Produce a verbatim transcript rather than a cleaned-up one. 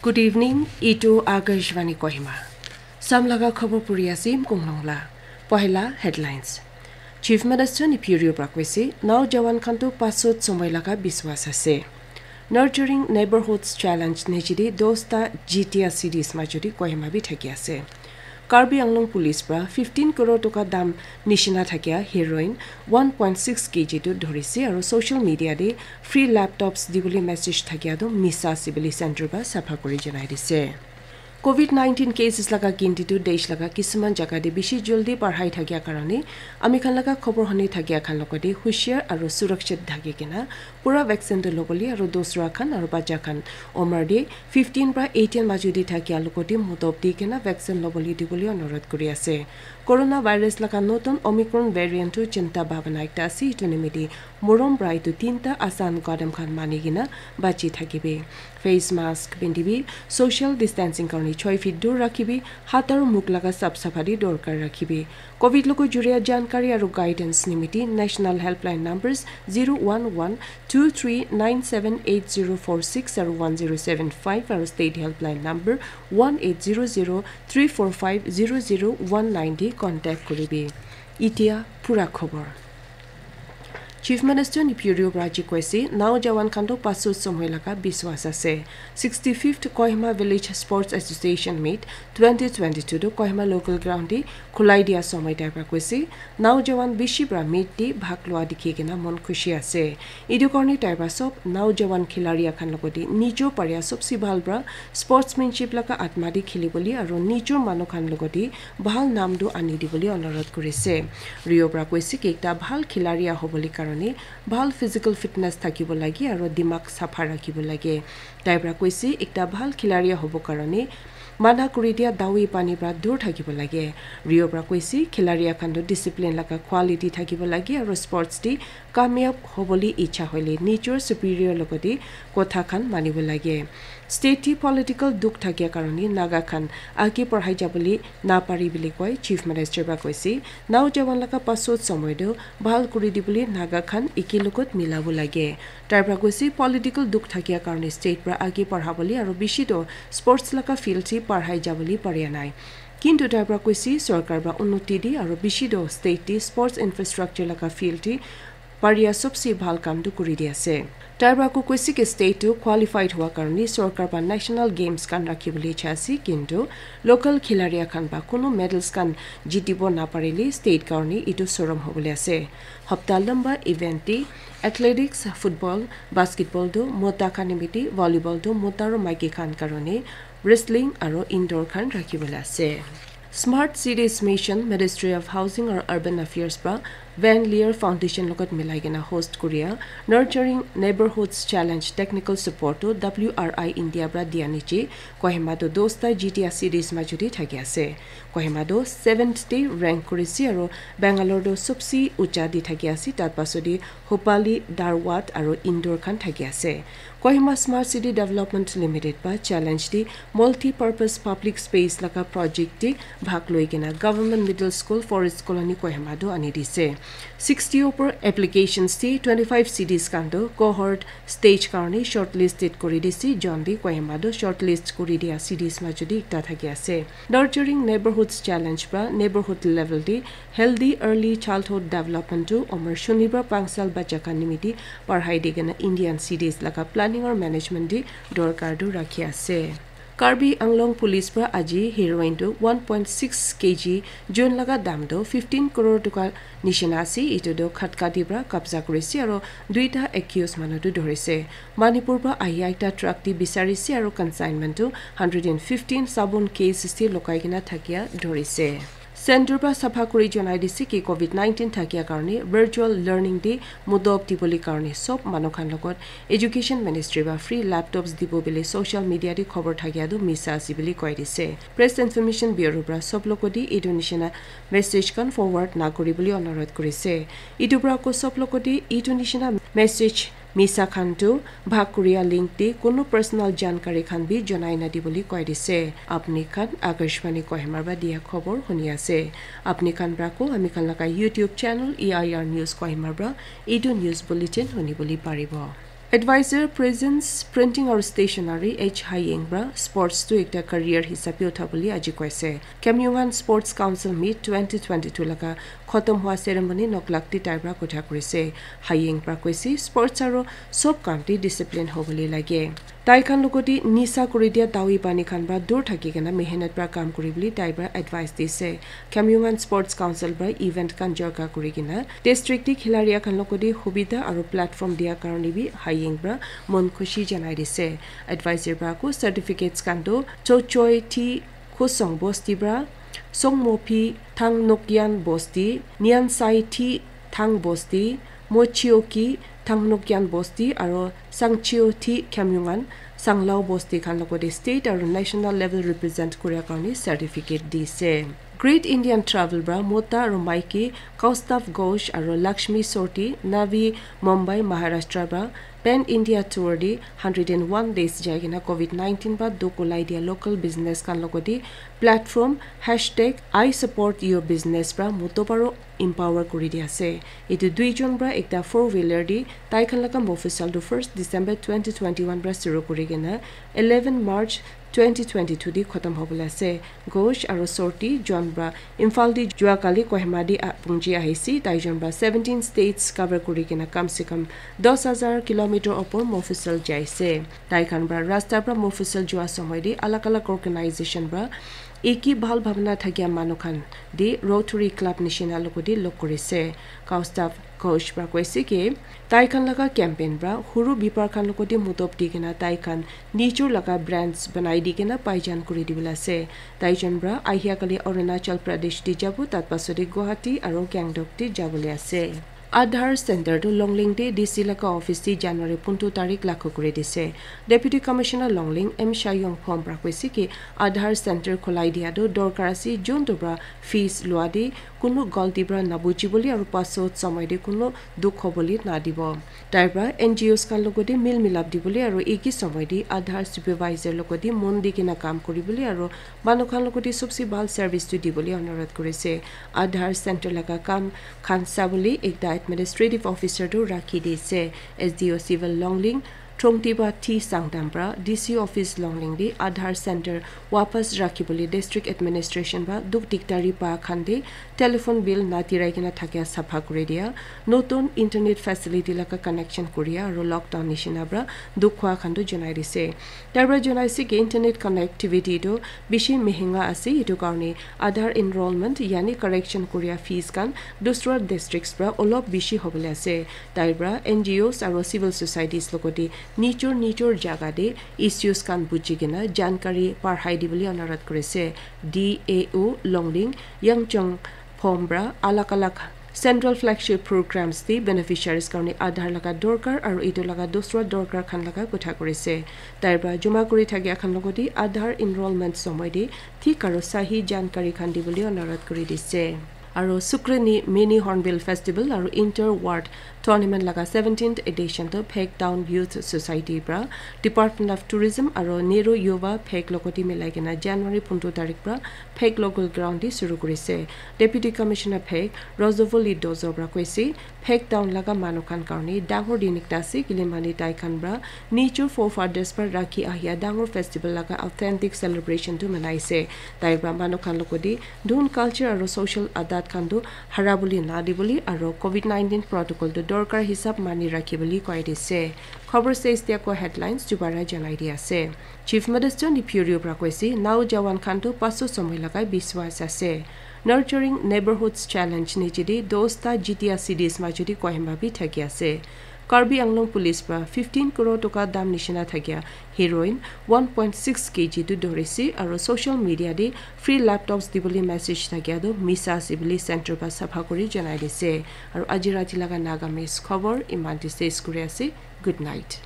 Good evening, itu Akashvani Kohima. Samlaga khobor puri asim konglongla. Pohela headlines. Chief Minister Neiphiu Rio pra koise, naujawan khan tu pasot somoi laga biswas ase. Nurturing Neighborhoods Challenge nijidi dosta G T A cities majudi Kohima bi thaki ase. Karbi Anglong Police pra fifteen crore toka dam nishina thakia heroin one point six K G tu dhorise aru social media de free laptops dibole message thakia tu misa ase bole center pra sapha kuri janai dise. Covid nineteen cases laga ginti tu desh laga kisuman jaga de bishi joldi barhai thakia karone ami khan laga khobor hone thakia khan logote hushiar aru surakshit thaki kena pura vaccine tu lobole aru dosra khan aru bacha khan omar de fifteen pra eighteen majudi thakia logote mudop di kena vaccine lobole dibole onurodh kuri ase. Coronavirus laga notun Omicron variant tu chinta bhabana ekta ase, itu nimite morom pra itu tinta asan kadam khan mani kena bachi thakibi. Face mask pindibi, social distancing karone choi feet dur rakhibi, hat aru mukh laga sap sapha di dorkar rakhibi. Covid logo juria jankari aru guidance nimite National Helpline numbers zero one one two three nine seven eight zero four six aru one zero seven five aru State Helpline number one eight zero zero three four five zero zero one nine di contact kuribi. Itia pura khobor. Chief Minister Neiphiu Rio pra ji koise, naujawan khan tu pasot somoi laga biswas ase. Sixty-fifth Kohima Village Sports Association Meet twenty twenty-two tu Kohima local ground di khulai dia somoi tai pra koise, naujawan bishi pra meet di bhag lua dikhi kena mon khushi ase. Itu karone tai pra sob naujawan khilaria khan logote nijo paria sobse bhal pra sportsmanship laga atma di khili bole aru nijor manu khan logote bhal nam tu ani dibole onurodh kurise. Rio pra koise ki ekta bhal khilaria hobole karone bhal physical fitness thakibo lage aru dimag sapha rakhibo lage. Tai pra koise ekta bhal khilaria hobo karone mana kuri dia dawi pani pra dur thakibo lage. Rio pra koise khilaria khan tu discipline laga quality thakibo lage aru sports te kamyab hobole icha hoile nijor superior logote kotha khan manibo lage. State te political dukh thakia karone Naga khan age parhai jabole napari bole koi Chief Minister pra koise. Naujawan laga pasot somoi tu bhal kuri dibole Naga khan eke logot milabo lage. Tai pra koise political dukh thakia karone state pra age parhabole aru bishi tu sports laga field te parhai jabole paria nai. Kintu tai pra koise sorkar pra unnoti di aru bishi tu state te sports infrastructure laga field te paria sobse bhal kam tu kuri di ase. Tai pra ko koise ki state tu qualified hua karone sorkar pra national games khan rakhi bole icha ase, kintu local khilaria khan pra kunu medals khan jitibo naparile state karone itu sorom hobole ase. Hapta lamba event te athletics, football, basketball tu mota khan nimite, volleyball tu mota aru maiki khan karone, wrestling aru indoor khan rakhi bole ase. Smart Cities Mission, Ministry of Housing aru Urban Affairs pra Van Leer Foundation logot milai kena host kuria Nurturing Neighborhoods Challenge technical support tu W R I India pra dia niche Kohima tu dosta G T A cities majudi thaki ase. Kohima tu seventh te rank kurise aru Bangalore tu sobse ucha di thaki ase, tat pasodi Hupali, Dharwad aru Indore khan thaki ase. Kohima Smart City Development Limited pra challenge te multi-purpose public space laga project te bhag loi kena Government Middle School, Forest Colony, Kohima tu ani dise. Sixty opor applications te twenty-five cities khan tu cohort stage karone shortlisted kuri dise, jon bi Kohima tu shortlist kuri dia cities majudi ekta thaki ase. Nurturing Neighborhoods Challenge pra neighborhood level te healthy early childhood development tu omor shuni pra pangsal bacha khan nimite parhai di kena Indian cities laga planning aru management te dorkar tu rakhi ase. Karbi Anglong Police pra aji heroin tu one point six K G, jun laga dam tu fifteen crore toka nishina ase, itu tu Khatkati pra kabza kurise aru duita accused manu tu dhorise. Manipur pra ahia ekta truck te bisarise aru consignment tu hundred and fifteen sabun cases te lokai kena thakia dhorise. Center pra sapha kuri janai dise ki covid nineteen thakia karone virtual learning te mudop dibole karone sob manu khan logot Education Ministry pra free laptops dibo bole social media te khobor thakia tu misa ase bole koi dise. Press Information Bureau pra sob logote etu nishina message khan forward na kuri bole onurodh kurise. Etu pra ko sob logote etu nishina message misa khan tu bhag kuria link te kunu personal jankari khan bi janai na dibole koi dise. Apni khan Akashvani Kohima pra dia khobor huni ase. Apni khan pra ko ami khan laga YouTube channel E I R News Kohima pra etu news bulletin huni bole paribo. Advisor Presence Printing aru Stationery H Haying pra sports tu ekta career hisabe utha bole aji koise. Khamyungan Sports Council Meet twenty twenty-two laga khotom hua ceremony Noklak te tai pra kotha kurise. Haying pra koise sports aru sob kam te discipline hobole lage. Tai khan logoti nisa kuri dia dawi pani khan pra dur thaki kena mehenat pra kam kuri bole tai pra advice dise. Khamyungan Sports Council pra event khan jorka kuri kena district te khilaria khan logoti hubida aru platform dia karone bi Haying pra mon khushi janai dise. Advisor pra ko certificates khan tu Chochoi Thi Khosong Bosti pra, Songmophi Thangnokyan Bosti, Nyansai Thi Thang Bosti, Mochioki Thangnokyan Bosti aru Sangchio Thi Khamyungan Sanglao Bosti khan logoti state aru national level represent kuria karone certificate dise. Great Indian Travel pra mota aru maiki Kaustav Ghosh aru Lakshmi Sorti, Navi Mumbai, Maharashtra pra Pan India Tour te hundred and one days jai kena covid nineteen pra dukh ulai dia local business khan logoti platform hashtag I support your business pra muto paro empower kuri dia ase. Etu duijon pra ekta four wheeler te tai khan laga Mofusal tu first December twenty twenty-one pra shuru kuri kena eleven March twenty twenty-two te khotom hobole ase. Ghosh aru Sorti jon pra Imphal te jua kali Kohima te ah, pungji ahise. Tai jon pra seventeen states cover kuri kena kam se kam dos hajar kilometer opor Mofusal jaise. Tai khan pra rasta pra Mofusal jua somoy te alag alag organization pra eki bhal bhabna thakia manu khan te Rotary Club nishina logoti log kurise. Kaustav Ghosh pra koise ki tai khan laga campaign pra huru bipar khan logoti mudop di kena tai khan nijor laga brands banai di kena paijan kuri dibole ase. Tai jon pra ahia kali Arunachal Pradesh te jabo, tat pasode Guwahati aru Gangtok te jabole ase. Aadhaar Center tu Longling te D C laga office te January puntu tarik lakho kuri dise. Deputy Commissioner Longling M Shayong Phom pra koise ki Aadhaar Center khulai dia tu dorkar ase, jon tu pra fees lua te kunu galti pra nabuji bole aru pasot somoy te kunu dukh hobole nadibo. Tai pra N G Os khan logoti mil milap dibole aru eki somoy te Aadhaar supervisor logoti mon di kena kam kuribole aru manu khan logoti sobse bhal service tu dibole anurodh kurise. Aadhaar center laga kam khan sabole ekta administrative officer tu rakhi dise. S D O Civil Longling Thongtiba T Sangdam pra D C office Longling te Aadhaar center wapas rakhi bole district administration pra dukh dikdari pa khan te telephone bill na tirai kena thakia sapha kuri dia, notun internet facility laga connection kuria aru lockdown nishina pra dukh hua khan tu janai dise. Tai pra janai se ki internet connectivity tu bishi mehenga ase, etu karone Aadhaar enrollment yani correction kuria fees khan dusra districts pra olop bishi hobole ase. Tai pra N G Os aru civil societies logoti nijor nijor jaga te issues khan buji kena jankari parhai dibole anurodh kurise. D A O Longling Yangchong Phom pra alag alag central flagship programs te beneficiaries karone Aadhaar laga dorkar aru etu laga dusra dorkar khan laga kotha kurise. Tai pra joma kuri thakia khan logoti Aadhaar enrollment somoy te thik aru sahi jankari khan dibole anurodh kuri dise. Aru Sukreni Mini Hornbill Festival aru Inter Ward Tournament laga seventeenth edition tu Phek Town Youth Society pra Department of Tourism aru Nehru Yuva Phek logoti milai kena January puntu tarik pra Phek local ground te shuru kurise. Deputy Commissioner Phek Rozovoli Dozo pra koise, Phek Town laga manu khan karone dangor din ekta ase, kile mane tai khan pra nijor forefathers pra rakhi ahia dangor festival laga authentic celebration tu manai ase. Tai pra manu khan logoti dhun, culture aru social adat khan tu hara bole na dibole aru covid nineteen protocol tu dorkar hisab mani rakhi bole koi dise. Khobor shes dia ko headlines dubara janai di ase. Chief Minister Neiphiu Rio pra koise, nau jawan khan tu paso somoy lagai biswas ase. Nurturing Neighborhoods Challenge niche te dosta jitia cities majo te Kohima bi thaki ase. Karbi Anglong Police pra fifteen crore toka dam nishina thakia heroin one point six K G tu dhorise aru social media te free laptops dibole message thakia tu misa ase bole center pra sapha kuri janai dise. Aru aji rati laga Nagamese khobor iman te ses kuri ase. Good night.